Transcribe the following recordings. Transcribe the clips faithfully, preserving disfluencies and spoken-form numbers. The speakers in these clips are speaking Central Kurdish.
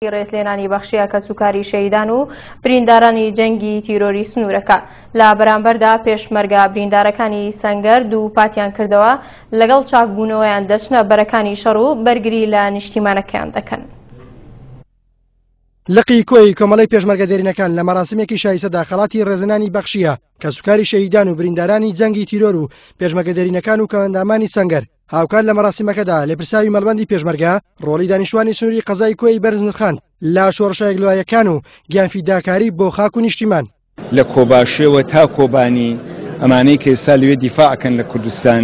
ڕێزلێنانی بەخشیە کەسوکاری شەهیدان و بریندارانی جەنگی تیرۆری سنوورەکە. لە بەرامبەردا پێشمەرگە بریندارەکانی سەنگەر دووپاتیان کردەوە لەگەڵ چاکبوونەوەیان دەچنە بەرەکانی شەڕ و بەرگری لە نیشتیمانەکەیان دەکەن. لقی کۆی کۆمەڵەی پێشمەرگە دێرینەکان لە مەراسیمێکی شایستەدا خەڵاتی ڕێزلێنانی بەخشیە کەسوکاری شەهیدان و بریندارانی جەنگی تیرۆر و پێشمەرگە دێرینەکان و کەمئەندامانی سەنگەر. هاوکات لە مەراسیمەکەدا لێپرساوی مەڵبەندی پێشمەرگە ڕۆڵی دانیشتوانی سنووری قەزای کۆی بەرز نرخاند لە شۆڕشە یەکلایەکان و گیانفیداکاری بۆ خاک و نیشتیمان. لە کۆباشێوە تا کۆبانی ئەمانەی کە ئێستا لەوێ دیفاعکەن لە کوردستان،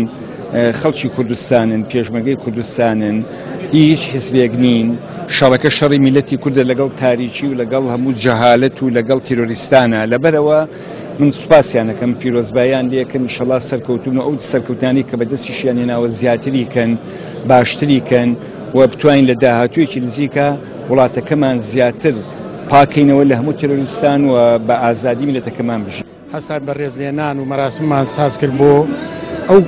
خەڵکی کوردستانن، پێشمەرگەی کوردستانن، هیچ حزبێک نین. شەڕەکە شەڕی میلەتی کوردە لەگەڵ تاریکی و لەگەڵ هەموو جەهالەت و لەگەڵ تیرۆریستانە. لەبەرەوە من سوپاسیانەکەم، پیرۆزبایان لێکن، ئینشەڵا سەرکەوتون و ئەو سەرکەوتانی کە بەدەستیشیان هێناوە زیاتری کەن، باشتری کەن و بتوانین لە داهاتوویەکی نزیکە وڵاتەکەمان زیاتر پاکەینەوە لە هەموو تیرۆریستان و بە ئازادی میلەتەکەمان بژین. هەستان بە ڕێزلێنان و مەراسیممان ساز کرد بۆ ئەو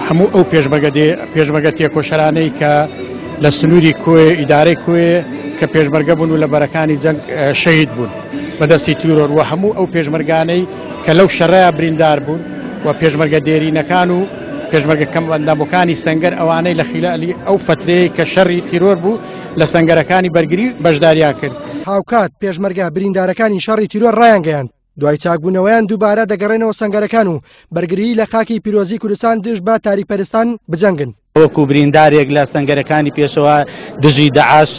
هەموو ئەو پێشمەرگە تێکۆشەرانەی کە لە سنووری کۆیە، ئیدارەی کۆیە کە پێشمەرگە بوون و لە بەرەکانی جەنگ شەهید بوون بەدەستی تیرۆر و هەموو ئەو پێشمەرگانەی کە لەو شەڕەیە بریندار بوون و پێشمەرگە دێرینەکان و پێشمەرگە کەمئەندامەکانی سەنگەر ئەوانەی لە خیلالی ئەو فترەیە کە شەڕی تیرۆر بوو لە سەنگەرەکانی بەرگری بەشداریان کرد. هاوکات پێشمەرگە بریندارەکانی شەڕی تیرۆر ڕایانگەیاند دوای چاکبوونەوەیان دووبارە دەگەڕێنەوە سەنگەرەکان و بەرگریی لە خاکی پیرۆزی کوردستان دژ بە تاریکپەرستان بجەنگن. وەکو بریندارێک لە سەنگەرەکانی پێشەوە دژی داعش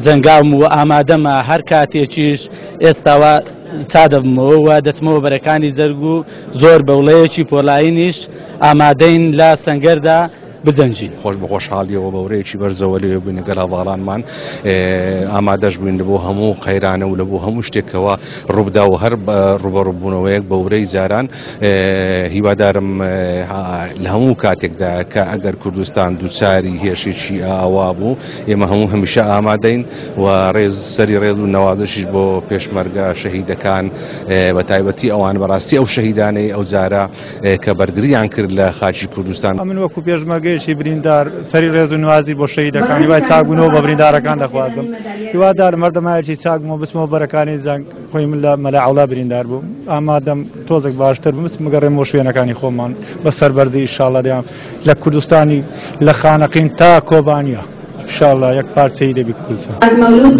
جەنگاوم و ئامادەمە هەر کاتێکیش ئێستاوە تا دەبمەوە و دەچمەوە بەرەکانی جەرگ و زۆر بەوڵەیەکی پۆلایینیش ئامادەین لە سەنگەردا بجەنجین. خۆش بە خۆشحاڵیەوە بەورەیەکی بەرزەوە لێ بووین لەگەڵ هەڤاڵانمان، ئامادەش بووین لە بۆ هەموو قەیرانە و لە بۆ هەموو شتێکەوە ڕووبدا و هەر ڕوبەڕووبوونەوەیەک بە ورەی جاران. هیوادارم لە هەموو کاتێکدا کە ئەگەر کوردستان دووچاری هێرشێکی ئاوا بوو ئێمە هەموو هەمیشە ئامادەین و ڕێز سەری ڕێز و نەوازشیش بۆ پێشمەرگە شەهیدەکان، بە تایبەتی ئەوان بەڕاستی ئەو شەهیدانەی ئەو جارە کە بەرگریان کرد لە خاکی کوردستان. ئەمن وەکو پێشمەرگەیەکی بریندار سەری ڕێز و نوازی بۆ شەهیدەکان هیوای چاکبوونەوە بە بریندارەکان دەخوازم. هیوادارم هەردەمایەکی چاکبوومەوە بچمەوە بەرەکانی جەنگ. خۆی من لە مەلا عەوڵا بریندار بووم، ئامادەم تۆزێک باشتر بووم بچم بگەڕێمەوە شوێنەکانی خۆمان بە سەربەرزی ئینشاڵڵا. دەیان لە کوردستانی لە خانەقین تا کۆبانیە ئینشاڵڵا یەک پارچەی دەبی کوردستان.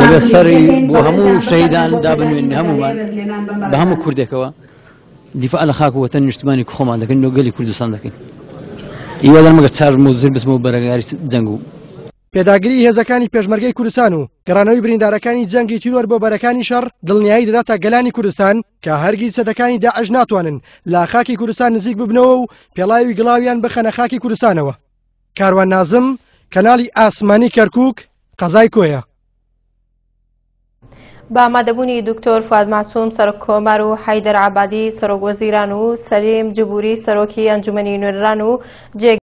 دەبێت سەری بۆ هەموو شەهیدان دابنوێن، هەموومان بە هەموو کوردێکەوە دیفاع لە خاک و وەتەن نیشتمانی خۆمان دەکەین و گەلی کوردستان دەکەین. هیوادارم ئەگەر چاک بوو زر بچمەوە بەرەگاری جەنگ و پێداگری هێزەکانی پێشمەرگەی کوردستان و گەڕانەوەی بریندارەکانی جەنگی تیرۆر بۆ بەرەکانی شەڕ دڵنیایی دەداتە گەلانی کوردستان کە هەرگیز چەتەکانی داعش ناتوانن لە خاکی کوردستان نزیک ببنەوە و پێڵاوی گڵاویان بخەنە خاکی کوردستانەوە. کاروان نازم، کەناڵی ئاسمانی کەرکووک، قەزای کۆیە. بە ئامادەبوونی دکتۆر فواد مەعسوم سەرۆک کۆمار و حەیدەر عەبادی سەرۆک وەزیران و سەلیم جبوری سەرۆکی ئەنجومەنی نوێنەران و جێ